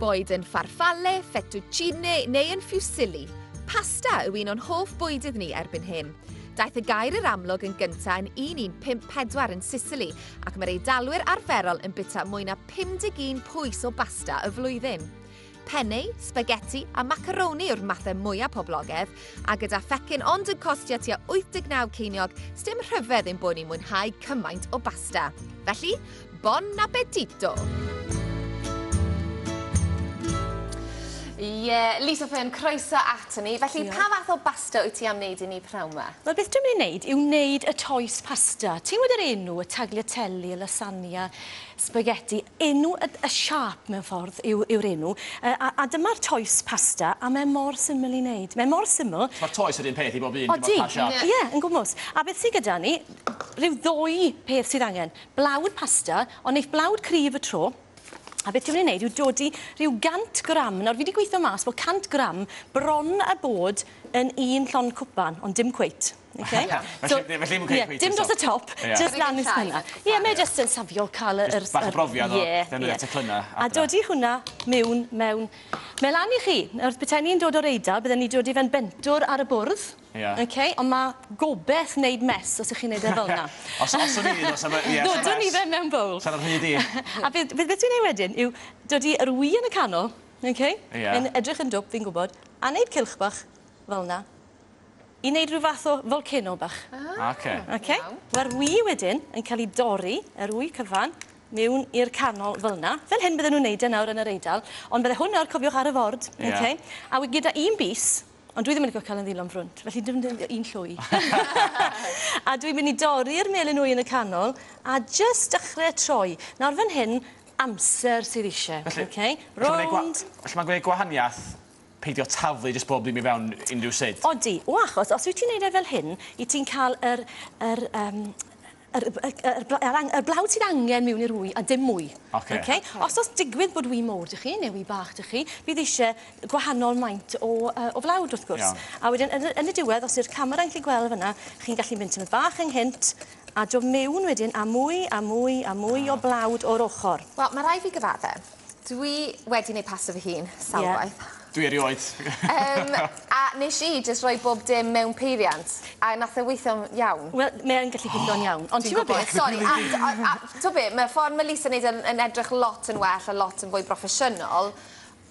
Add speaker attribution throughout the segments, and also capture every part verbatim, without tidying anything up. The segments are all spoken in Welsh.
Speaker 1: Boed yn farfalle, fettuccine neu yn fusilli, pasta yw un o'n hoff bwydydd ni erbyn hyn. Daeth y gair i'r amlwg yn gyntaf yn un un pump pedwar yn Sicily ac mae'r Eidalwyr arferol yn byta mwy na pum deg un pwys o basta y flwyddyn. Penne, spaghetti a macaroni yw'r mathau mwyaf poblogaidd, a gyda phecyn ond yn costio tua wyth deg naw ceiniog, sdim rhyfedd ein bod ni'n mwynhau cymaint o basta. Felly, bon appetito! Ie, yeah, Lisa Fearn, croeso ato ni. Felly,
Speaker 2: Diolch.
Speaker 1: Pa fath o basta wyt ti am wneud i ni pnawn 'ma?
Speaker 2: Wel, beth dwi'n mynd i wneud yw wneud y toes pasta. Ti'n gwybod yr enw, y tagliatelle, y lasagna, spaghetti. Enw y, y siâp mewn ffordd yw, yw'r enw. A, a dyma'r toes pasta, a mae mor syml i wneud. Mae mor syml.
Speaker 3: Mae'r toes yr un peth i bob un.
Speaker 2: Odi, ie, yn gwmws. A beth sydd gyda ni, rhyw ddwy peth sydd angen. Blawd pasta, ond neith blawd cryf y tro. A beth dwi'n mynd i wneud yw dodi rhyw gant gram. Nawr, fi wedi gweithio mas bod cant gram bron a bod yn un llond cwpan, ond dim cweit. Okay?
Speaker 3: So, felly, felly ddim
Speaker 2: yeah,
Speaker 3: cweit.
Speaker 2: Dim dros y top,
Speaker 3: yeah.
Speaker 2: Just lan i'w penna. Ie, yeah, mae jyst yn safio cael yr...
Speaker 3: Just bach o brofiad o ddefnyddio teclynnau.
Speaker 2: A dodi hwnna mewn, mewn... Mae lan i chi. Nawr, petai ni'n dod o'r Eidal, bydden ni dod i fe'n bentwr ar y bwrdd.
Speaker 3: Yeah.
Speaker 2: Okay? Ond mae gobeith wneud mess os ych chi'n neud e fel yna.
Speaker 3: Os, os o'n i, os am...
Speaker 2: Ddodwn ni fe mewn bowl.
Speaker 3: Sa'n rhy di.
Speaker 2: A beth, beth dwi'n neud wedyn yw dodi yr wy yn y canol, okay?
Speaker 3: Yeah.
Speaker 2: Yn edrych yn dwp, fi'n gwybod, a wneud cylch bach fel yna. I wneud rhyw fath o volcano bach.
Speaker 3: Ah, okay.
Speaker 2: Okay. Mae'r wy wedyn yn cael ei dorri, yr wy cyfan, mewn i'r canol fel yna. Fel hyn bydden nhw'n neud e nawr yn yr Eidal, ond bydde hwn nawr, cofiwch, ar y ford.
Speaker 3: Yeah.
Speaker 2: Okay? A wy gyda un bys, ond dwi ddim yn licio cael yn ddilon frwnt, felly dim un llwy. A dwi'n mynd i dorri'r melyn wy yn y canol, a jyst dechrau troi. Nawr fan hyn, amser sydd eisiau.
Speaker 3: Felly,
Speaker 2: okay? Rownd.
Speaker 3: Felly mae'n gwneud gwahaniaeth peidio taflu jyst bob dim i fewn unrhyw sut.
Speaker 2: Odi, o achos, os wyt ti'n neud e fel hyn, i ti'n cael yr, yr, um, yr, yr, yr, yr, yr blawd sydd angen mewn i'r wy, a dim mwy.
Speaker 3: Okay.
Speaker 2: Okay? Os oes digwydd bod wy mowr 'da chi, neu wy bach 'da chi, bydd eisiau gwahanol maint o, uh, o flawd, wrth gwrs.
Speaker 3: Iawn.
Speaker 2: A wedyn, yn, yn y diwedd, os yw'r camera'n gallu gweld fyna, chi'n gallu mynd tymed bach ynghynt, a dod mewn wedyn a mwy, a mwy, a mwy o blawd o'r ochr.
Speaker 1: Wel, mae rhaid fi gyfadde. Dwi wedi gwneud pasta fy hun, sawl
Speaker 2: yeah.
Speaker 1: gwaith.
Speaker 3: Dwi erioed.
Speaker 1: um, a nes i jyst rhoi bob dim mewn peiriant, a nath e weithio'n iawn.
Speaker 2: Wel, mae'n gallu gweithio'n iawn. Ond ti'n gwybod beth?
Speaker 1: Sori, a, a, a, a, be, mae ffordd mae Lisa yn neud yn, yn edrych lot yn well a lot yn fwy broffesiynol,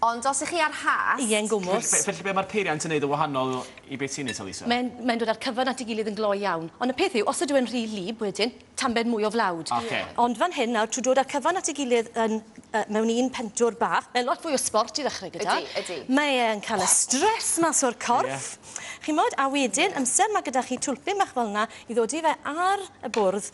Speaker 1: ond os ych chi ar hast...
Speaker 2: Ie, yn gwmws.
Speaker 3: Felly be mae'r peiriant yn neud yn wahanol i beth ti'n neud, Lisa?
Speaker 2: Mae'n mae dod â'r cyfan at ei gilydd yn gloi iawn. Ond y peth yw, os ydw i'n rhy lib wedyn, tambed mwy o flawd.
Speaker 3: Okay.
Speaker 2: Ond fan hyn nawr, trwy dod â'r cyfan at ei gilydd yn, uh, mewn un pentwr bach, mae'n lot fwy o sport i ddechrau gyda.
Speaker 1: Ydy, ydy.
Speaker 2: Mae e'n cael y stres mas o'r corff.
Speaker 3: Yeah.
Speaker 2: Chimod, a wedyn, amser mae gyda chi twlpyn bach fel yna i ddod i fe ar y bwrdd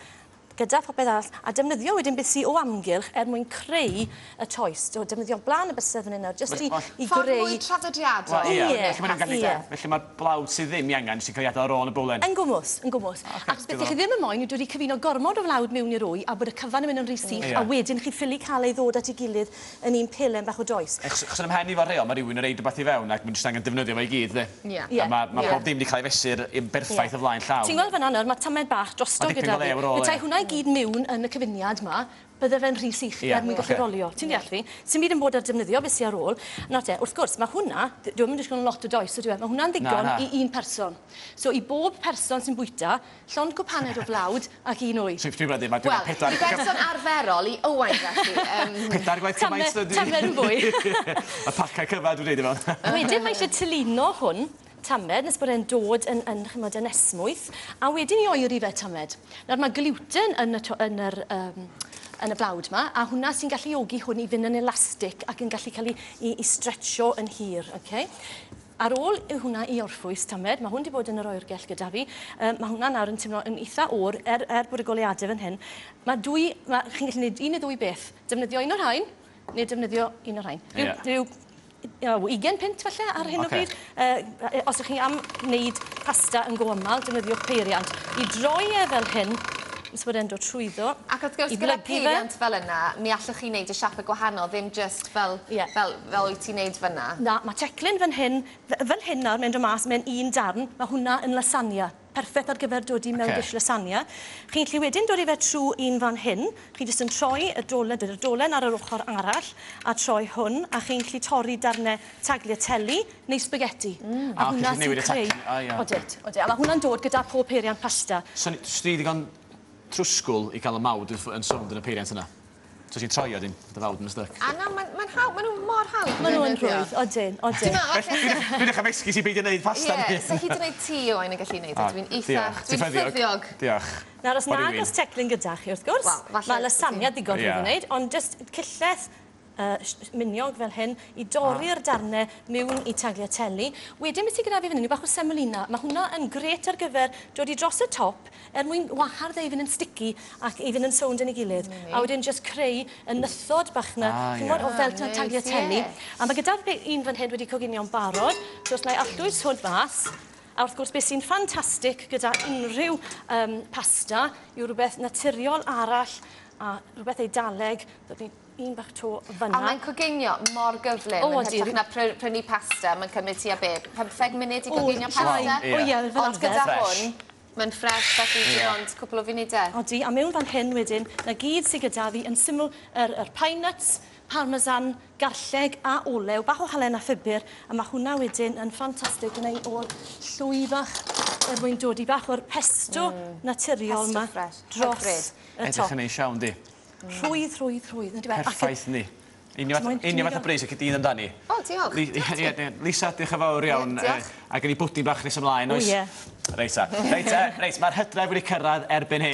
Speaker 2: gyda phopeth arall, a defnyddio wedyn beth sydd o amgylch er mwyn creu y toes. So, defnyddio blaen y bysedd fan hyn nawr, jyst i, i greu...
Speaker 1: Ffordd mwy traddodiadol.
Speaker 3: Wel, ie.
Speaker 2: Ie.
Speaker 3: Felly mae'n gallu... Felly mae'r blawd sydd ddim i angen sy'n cael ei adael ar ôl yn y bowlen.
Speaker 2: Yn gwmws, yn gwmws.
Speaker 3: Okay,
Speaker 2: Achos beth chi ddim yn moyn yw dod i cyfuno gormod o flawd mewn i'r wy a bod y cyfan yn mynd yn rhy sych,
Speaker 3: yeah.
Speaker 2: a wedyn chi ffili cael ei ddod at ei gilydd yn un pelen bach o does.
Speaker 3: Achos yn ymhen i fo'r rheol, mae rhywun yn reid rhywbeth i fewn ac mae'n jyst angen defnyddio fe i gyd, de.
Speaker 1: Ie.
Speaker 3: A mae ma
Speaker 1: yeah.
Speaker 3: pob dim wedi cael ei fesur yn berffaith
Speaker 2: yeah.
Speaker 3: o flaen llaw.
Speaker 2: Ti'n gweld fan'na nawr, mae tamed bach drosto gyda fi. Petai hwnna i gyd mewn yn y cyfuniad yma, bydde fe'n rhy sych
Speaker 3: yeah,
Speaker 2: er mwyn gallu
Speaker 3: okay.
Speaker 2: rolio. Ti'n deall fi? Sy'n byd yn bod ar defnyddio beth sydd ar ôl. Nawr te, wrth gwrs, mae hwnna, dwi'm yn disgwyl lot o does, ydw e, mae hwnna'n ddigon
Speaker 3: na, na.
Speaker 2: i un person. So i bob person sy'n bwyta, llond cwpaned o flawd ac un wy.
Speaker 3: Dwi'n meddwl, mae
Speaker 1: Wel,
Speaker 3: pedair...
Speaker 1: i berson arferol, i Owain felly. Um...
Speaker 3: Pedair gwaith cymaint.
Speaker 2: Tamed yn fwy.
Speaker 3: Y pacau cyfa dwi'n dweud i fewn.
Speaker 2: Wedyn mae eisiau tylino hwn, tamed, nes bod e'n dod yn, yn, chymod, yn esmwyth, a wedyn i oeri fe tamed. Nawr mae gluten yn y, yn yr, um, yn y blawd yma, a hwnna sy'n galluogi hwn i fynd yn elastig ac yn gallu cael ei, ei, ei stretcho yn hir. Okay? Ar ôl i hwnna i orffwys tamed, mae hwn wedi bod yn yr oergell gyda fi, um, mae hwnna nawr yn teimlo yn eitha oer, er, er bod y goleuadau fan hyn. Mae dwy, mae, chi'n gallu gwneud un neu ddwy beth, defnyddio un o'r rhain, neu defnyddio un o'r rhain. Rhyw,
Speaker 3: yeah.
Speaker 2: rhyw ugain punt falle ar hyn
Speaker 3: okay.
Speaker 2: o bryd. Uh, os ydych chi am wneud pasta yn go aml, defnyddiwch peiriant. I droi e fel hyn, nes bod e'n dod trwyddo.
Speaker 1: Ac wrth gwrs, gyda peiriant fel yna, mi allwch chi wneud y siapau gwahanol, ddim just fel,
Speaker 2: yeah.
Speaker 1: fel, fel wyt ti'n wneud fyna.
Speaker 2: Na, mae teclyn fan hyn, fel hyn nawr, mae'n dod mas mewn un darn, mae hwnna yn lasagna. Perffaith ar gyfer dodi mewn okay. dish lasagna. Chi'n gallu wedyn dod i fe trwy un fan hyn. Chi jyst yn troi y dolen, dod y dolen ar yr ochr arall a troi hwn, a chi'n gallu torri darnau tagliatelle neu spaghetti. Mm.
Speaker 3: A hwnna sy'n creu...
Speaker 2: Odit, odit. A mae hwnna'n dod gyda pob peiriant pasta.
Speaker 3: So, ni ddigon trwsgwl i gael y mawd yn sownd yn y peiriant yna? So ti'n troi o dyn, dy fawd yn y styc.
Speaker 1: A na, mae'n ma hawdd, maen nhw mor hawdd.
Speaker 2: Maen nhw'n rhwydd, odyn, odyn.
Speaker 3: Dwi'n dechrau mesgu sy'n beidio gwneud pasta.
Speaker 1: Ie, so hyd yn oed ti, Owain, yn gallu gwneud e. Dwi'n eitha, dwi'n ffyddiog.
Speaker 3: Diolch.
Speaker 2: Nawr, os nag oes teclyn gyda chi, wrth gwrs, mae lasagna digon rhwydd i wneud, ond jyst cyllell Uh, miniog fel hyn, i dorri'r darnau mewn i tagliatelle. Wedyn beth sydd gyda fi fan hyn yw bach o semolina. Mae hwnna yn grêt ar gyfer dod i dros y top er mwyn wahardd e i fynd yn sticky ac i fynd yn sownd yn ei gilydd. Mm. A wedyn jyst creu y nythod bach na, ah, yeah. o fel ah, tagliatelle. Yeah. A mae gyda fi un fan hyn wedi coginio'n barod, so os na i allwys hwn mas. A wrth gwrs, beth sy'n ffantastig gyda unrhyw um, pasta yw rhywbeth naturiol arall a rhywbeth Eidaleg. Un bach to fyna.
Speaker 1: A mae'n coginio mor gyflym. O, yn hytrach na prynu pasta, mae'n cymryd tua be, pymtheg munud i coginio pasta.
Speaker 2: O ie, fel
Speaker 1: Ond gyda hwn, mae'n ffres, felly dim ond cwpl o funudau.
Speaker 2: Odi, a mewn fan hyn wedyn, na gyd sydd gyda fi yn syml yr, yr pine nuts, parmesan, garlleg a olew, bach o halen a phupur, a mae hwnna wedyn yn ffantastig yn ei o'r llwy fach er mwyn dod i bach o'r pesto mm. naturiol yma dros y top.
Speaker 3: Edrych yn neis iawn, di.
Speaker 2: Rhwydd, rhwydd, rhwydd.
Speaker 3: Perffaith ni. Union fath o bris ac y dyn amdani.
Speaker 1: O, diolch.
Speaker 3: Lisa, diolch yn fawr iawn. A gen i bwdin bach nes ymlaen, oes?
Speaker 2: O, ie.
Speaker 3: Reit, reit, reit, mae'r hydref wedi cyrraedd erbyn hyn.